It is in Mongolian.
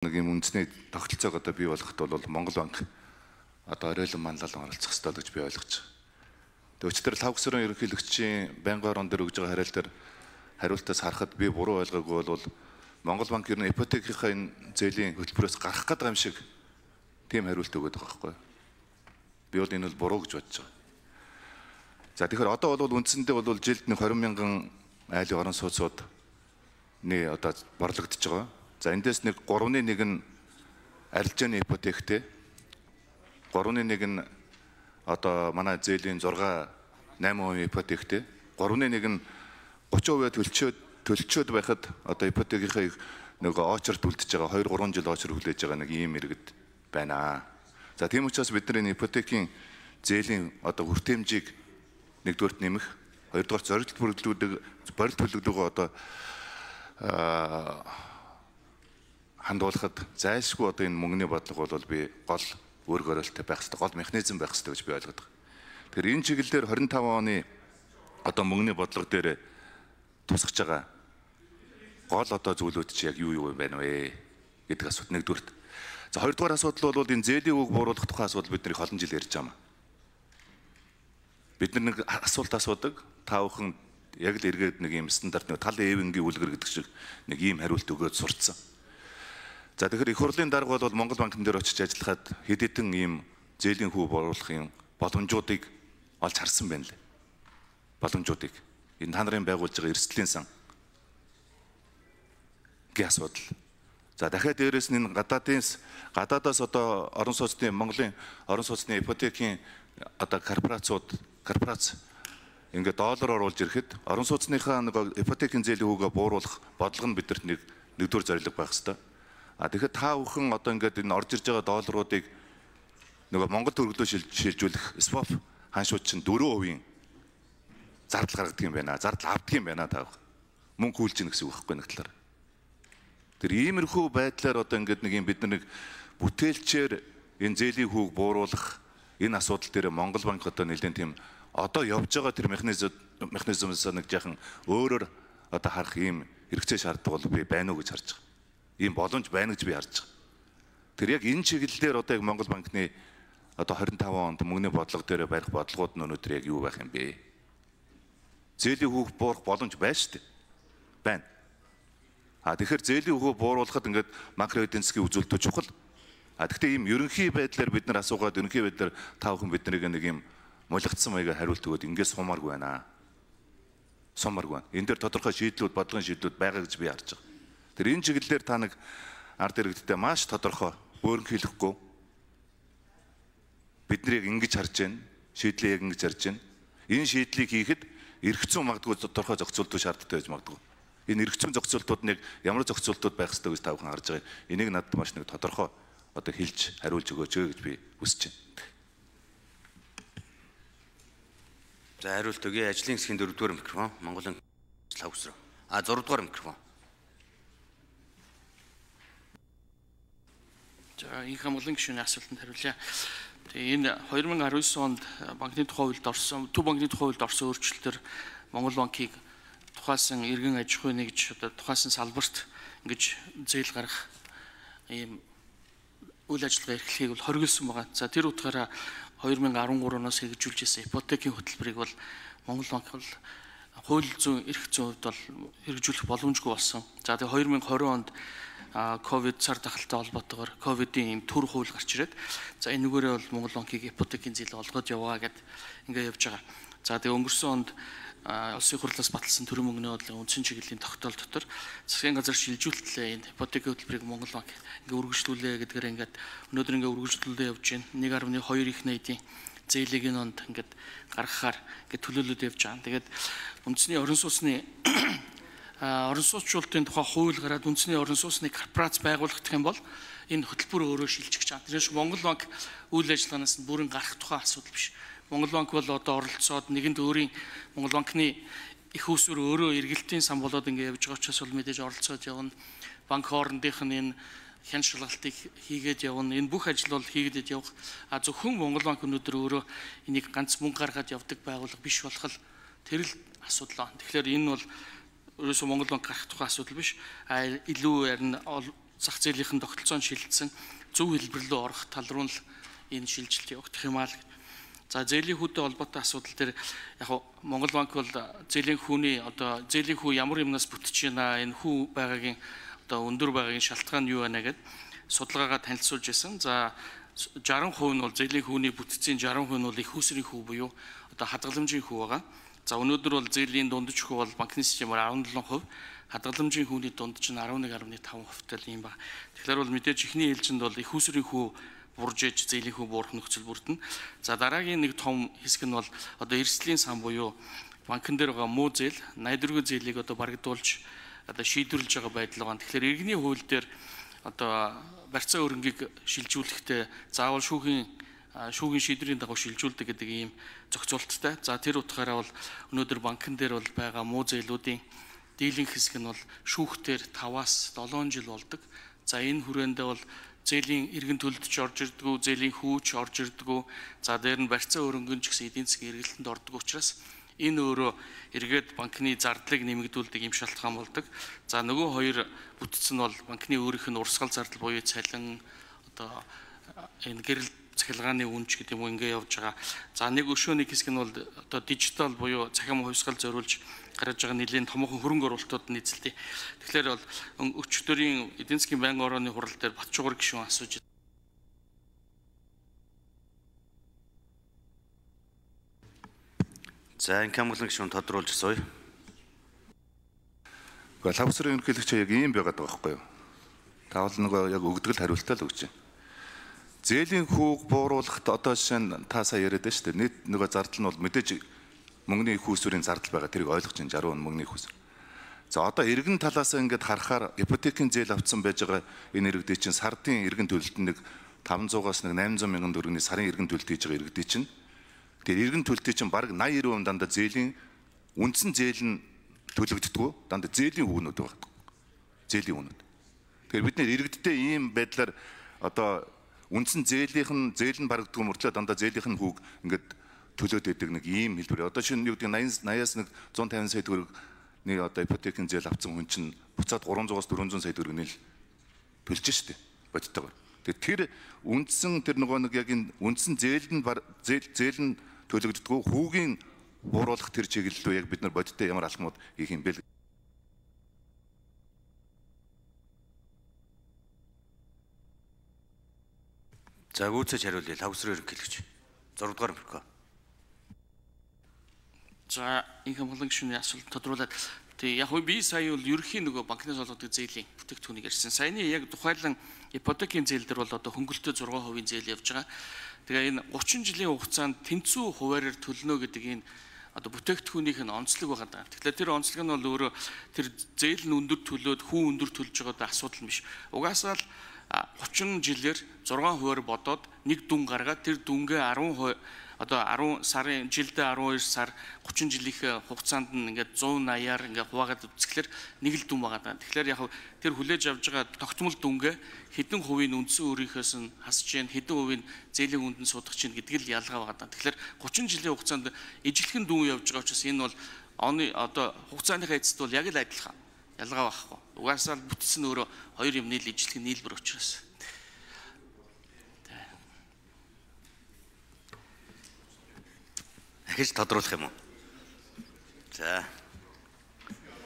Нэг юм үндэсний тогтолцоог одоо бий болгоход бол Монгол банк одоо оройлон манлайлан оролцох ёстой гэж би ойлгож байгаа. Өчигдөр лав гүсрэн ерөнхийлөгчийн байнгын орон дээр өгж байгаа хариулт дээр хариултаас харахад би буруу ойлгоогүй бол Монгол банк ер нь ипотекийнхаа энэ зээлийн хөтөлбөрөөс гарах гэдэг юм шиг тийм хариулт өгöd байгаа байхгүй. Би бол энэ бол буруу гэж бодож байгаа. За тэгэхээр одоо бол үндсэндээ бол жилд нэг 20 мянган айлын орон сууцуд одоо борлогдож байгаа. За эндээс нэг 3-1 нь арилжааны ипотектэй. 3-1 нь одоо манай зээлийн 6-8% ипотектэй. 3-1 нь 30% төлчөөд байхад одоо ипотекийнхаа нэг очерт үлдэж байгаа 2-3 жил очер хүлээж байгаа нэг ийм иргэд байна. За тийм учраас бид нар энэ ипотекийн зээлийн одоо хүртээмжийг нэгдүгээрт нэмэх, хоёрдугаар зорилт төлөвлөгөө одоо хандуулахад зайлшгүй одоо энэ мөнгөний бодлого бол би гол үүрэг оройлттой байх хэрэгтэй, гол механизм байх хэрэгтэй гэж би ойлгоод байгаа. Тэгэхээр энэ чиглэлээр 25 оны одоо мөнгөний бодлого дээр тусгаж байгаа гол одоо зүйлүүд чи яг юу байна вэ гэдэг асуудал нэгдүгürt. За хоёрдугаар асуудал бол энэ зээлийн үг бууруулах тухай асуудал бид нэр олон жил ярьж байгаа юм. Бид нар нэг асуулт асуудаг, та бүхэн яг л эргээд нэг юм стандарт нэг тал эвэнгийн үлгэр гэдэг шиг нэг ийм хариулт өгөөд сурцсан. За тэгэхээр их хурлын дарга бол Монгол банкн дээр очиж ажиллахад хэд хэдэн ийм зээлийн хүү бууруулахын боломжуудыг олж харсан байна лээ. Боломжуудыг. Энэ та нарын байгуулж байгаа эрсдлийн сан гээ асуудал. За дахиад дээрээс нь энэ гадаадаас одоо орон сууцны Монголын орон сууцны ипотекийн одоо корпорац ингээд доллар оруулж ирэхэд орон сууцныхаа нэг ипотекийн зээлийн хүүгээ бууруулах бодлого нь бидэрт нэгдүгээр зорилго байх хэвээр. Тэгэхээр та бүхэн одоо ингээд энэ орж ирж байгаа долларуудыг нөгөө Монгол төгрөгөөр шилжүүлэх swap ханшууд чинь 4% зардал гаргадаг юм байна. Зардал авдаг юм байна та бүхэн. Мөнгө хүлж ийн гэсэн үг байхгүй нэг талаар. Тэр иймэрхүү байдлаар одоо ингээд нэг юм бид нар нэг бүтээлчээр энэ зээлийн хүүг бууруулах энэ асуудал дээр Монгол банк одоо нэлээд тийм одоо явж байгаа тэр механизмээс нэг жаахан өөрөөр одоо харах ийм хэрэгцээ шаардлага бол би байна уу гэж харж байгаа. Ийм боломж байна гэж би харж байгаа. Тэр яг энэ чиглэлээр одоо яг Монгол банкны одоо 25 онд мөнгөний бодлого дээр барих бодлогууд нь өнөөдөр яг юу байх юм бэ? Зээлийн хүүг буурах боломж байна шүү дээ. Байна. Тэгэхээр зээлийн хүүг бууруулахад ингээд макро эдийн засгийн үзүүлэлтүүд чухал. Гэхдээ ийм ерөнхий байдлаар бид нар асуугаад ерөнхий байдлаар та бүхэн биднийг нэг юм мулигдсан маягаар хариулт өгөөд ингээд сумааргүй байна. Сумааргүй байна. Энэ дээр тодорхой шийдлүүд, бодлогын шийдлүүд байгаа гэж би харж байгаа. Тэр энэ чиглэлээр та нэг ард иргэдтэй маш тодорхой өөрөнхийлөхгүй бид нарыг ингэж харж байна, шийдлээ яг ингэж харж байна. Энэ шийдлийг хийхэд эрх зүйн магадгүй тодорхой зохицуултууд шаардлагатай байж магадгүй. Энэ эрх зүйн зохицуултууд нэг ямар зохицуултууд байх ёстой гэж та бүхэн харж байгаа. Энийг надад маш нэг тодорхой одоо хэлж хариулж өгөөч гэж би хүсэж байна. За хариулт өгье. Ажлын хэсгийн 4-р микрофон Монголын лав гүсрэн. 6-р микрофон. За энэ Монголын гишүүний асуултанд хариулъя. Тэгээ энэ 2019 онд банкны тухай хуульд орсон, төв банкны тухай хуульд орсон өөрчлөлтөөр Монгол банкыг тухайлсан иргэн аж ахуй нэгж одоо тухайлсан салбарт ингэж зээл гаргах ийм үйл ажиллагаа эрхлэхийг бол хориглосон байгаа. За тэр утгаараа 2013 оноос хэрэгжүүлж ирсэн ипотекийн хөтөлбөрийг бол Монгол банк бол хууль зүйн эрх зүйн хувьд бол хэрэгжүүлэх боломжгүй болсон. За тэгээ 2020 онд ковид цар тахалтай холбоотойгоор ковидын ийм төр хууль гарч ирээд за энэгээрээ бол Монгол банкыг ипотекийн зээл олгоод яваа гэд ингээ явж байгаа. За тэгээ өнгөрсөн онд улсын хурлаас баталсан төрийн мөнгөний бодлогын үндсэн чиглэлийн тогтоол дотор засгийн газар шилжүүлтлээ энэ ипотекийн хөтөлбөрийг Монгол банк ингээ үргэлжлүүлээ гэдгээр ингээд өнөөдөр ингээ үргэлжлүүлээ явж байна. 1.2 их найдын зээлийг энэ онд ингээд гаргахаар ингээ төлөөлөд явж байгаа. Тэгээд үндэсний орон сууцны орон сууцчуулалтын тухай хууль гараад үндэсний орон сууцны корпорац байгуулагдах юм бол энэ хөтөлбөр өөрөө шилжих гэж байгаа. Тэрээс Монгол банк үйл ажиллагаанаас нь бүрэн гарах тухай асуудал биш. Монгол банк бол одоо оролцоод нэгэнд өөрийн Монгол банкны их усүр өөрөө эргэлтийн сан болоод ингэ явж байгаа учраас бол мэдээж оролцоод явна. Банк хоорондынх нь энэ хян шалгалтыг хийгээд явна. Энэ бүх ажил бол хийгээд явах. Зөвхөн Монгол банк өнөөдөр өөрөө энийг ганц мөнгө гаргаад явдаг байгууллага биш болох тэр л асуудал байна. Тэгэхээр энэ бол ерөөсөө Монгол банк гарах тухай асуудал биш. Илүү харин зах зээлийн тогтолцоонд шилжсэн зөв хэлбэр рүү орох тал руу л энэ шилжилт явагдах юм аа л. За зээлийн хүүтэй холбоотой асуудал дээр яг Монгол банк бол зээлийн хүүний одоо зээлийн хүү ямар юмнаас бүтэж байна, энэ хүү байгаагийн одоо өндөр байгаагийн шалтгаан юу байна гэд судалгаагаа танилцуулж байсан. За 60% нь бол зээлийн хүүний бүтцийн 60% нь бол их усрын хүү буюу одоо хадгаламжийн хүү байгаа. За өнөөдөр бол зээлийн дундаж хүү бол банкны системээр 17%, хадгаламжийн хүүний дундаж нь 11.5%-тай юм ба. Тэгэхээр бол мэдээж ихний ээлжинд бол их усрын хүү буржээж зээлийн хүү буурах нөхцөл бүрдэнэ. За дараагийн нэг том хэсэг нь бол одоо эрсдлийн сан буюу банкн дээр байгаа муу зээл, найдваргүй зээлийг одоо барагдуулж одоо шийдвэрлэж байгаа байдал байгаа. Тэгэхээр иргэний хууль дээр одоо барьцаа өрнгийг шилжүүлэхдээ заавал шүүхийн шийдвэрийн дагуу шилжүүлдэг гэдэг ийм зохицуулттай. За тэр утгаараа бол өнөөдөр банкн дээр бол байгаа муу зээлүүдийн дийлэнх хэсэг нь бол шүүхтээр 5-аас 7 жил болдог. За энэ хүрээндээ бол зээлийн иргэн төлөлдөж орж ирдэггүй, зээлийн хүүч орж ирдэггүй. За дээр нь барьцаа өрөнгөн ч гэсэн эдийн засгийн эргэлтэнд ордог учраас энэ өөрөө эргээд банкны зардлыг нэмэгдүүлдэг юм шалтгаан болдог. За нөгөө хоёр бүтц нь бол банкны өөрийнх нь урсгал зардал буюу цалин одоо энэ гэрэл цахилгааны үнж гэдэг юм ингээ явж байгаа. За нэг өшөө нэг хэсэг нь бол одоо дижитал буюу цахим хувьсгал зориулж гаргаж байгаа нэлийн томоохон хөрөнгө оруулалтууд нийцэлтэй. Тэгэхээр бол өчигдөрийн эдийн засгийн байнгын орооны хурал дээр Батчуугар гишүүн асууж За энэ Камглан гишүүн тодруулж асууя. Гэхдээ лавсрын ерөнхийлөгч яг ийм байгаад байгаа байхгүй юу? Та бол нөгөө яг өгдгөл хариултаа л өгч байна. Зээлийн хүүг бууруулахад одоо жишээ нь та сая яриад байна шүү дээ. Нийт нөгөө зардал нь бол мэдээж мөнгөний их усүрийн зардал байгаа. Тэрийг ойлгож байна 60 мөнгөний их усүр. За одоо иргэн талаас ингээд харахаар ипотекийн зээл авцсан байж байгаа энэ иргэдийн чинь сардын иргэн төлөлтөнд нэг 500-аас нэг 800 мянган төгрөгийн сарын иргэн төлөлт хийж байгаа иргэдийн чинь тэр иргэн төлөлтийн чинь бараг 80-90% дандаа зээлийн үндсэн зээл нь төлөгддөггүй дандаа зээлийн хүүгнүүд байгаа. Зээлийн хүүгнүүд. Тэгэхээр бид нэр иргэдтэй ийм байдлаар одоо үндсэн зээл нь барагддгүй мөртлөө дандаа зээлийнх нь хүүг ингээд төлөөд байдаг нэг ийм хэлбэр. Одоо шинэ юу гэдэг 80-аас нэг 150 сая төгрөг нэг одоо ипотекийн зээл авсан хүн чинь буцаад 300-аас 400 сая төгрөг нийл төлж штэ бодтойгоор. Тэгэхээр тэр үндсэн тэр нөгөө нэг яг энэ үндсэн зээл нь төлөгддөггүй хүүгийн бууруулах тэр чиглэлөө яг бид нар бодиттой ямар алхмууд хийх юм бэ? За гүйцэж хариулъя. Лавсрын ерөнхийлөгч 6 дугаар мөркөө. За энэ Камглан гишүүний асуулт тодруулаад яг би сая бол ерөнхийн нөгөө банкнаас олгодог зээлийн бүтээгдэхүүнийг ярьсан. Саяны яг тухайлан ипотекийн зээл дээр бол одоо хөнгөлөлтөд 6% зээл явж байгаа. Тэгээ энэ 30 жилийн хугацаанд тэнцүү хуваараар төлнө гэдэг энэ одоо бүтээгдэхүүнийх нь онцлог байгаа даа. Тэгэхээр тэр онцлог нь бол өөрөө тэр зээл нь өндөр төлөөд хүн өндөр төлж байгаа асуудал биш. Угаасаа л 30 жилээр 6% бодоод нэг дүн гаргаад тэр дүнгээ 10% одоо 10 сарын жилдээ 12 сар 30 жилийнхээ хугацаанд нь ингээд 180-аар ингээд хуваагаад үзэхлээр нэг л дүн байгаа даа. Тэгэхээр яг тэр хүлээж авж байгаа тогтмол дүнгээ хэдэн хувийн үндсэн өөрийнхөөс нь хасж जैन хэдэн хувийн зээлийн үндэнд суудах чинь гэдэг л ялгаа байгаа даа. Тэгэхээр 30 жилийн хугацаанд ижилхэн дүн явж байгаа учраас энэ бол оны одоо хугацааныхаа эцэст бол яг л адилхан ялгаа байхгүй. Угаасаа бүтц нь өөрөө хоёр юмны л ижилхэн нийлбэр учраас. Дахиж тодруулах юм уу? За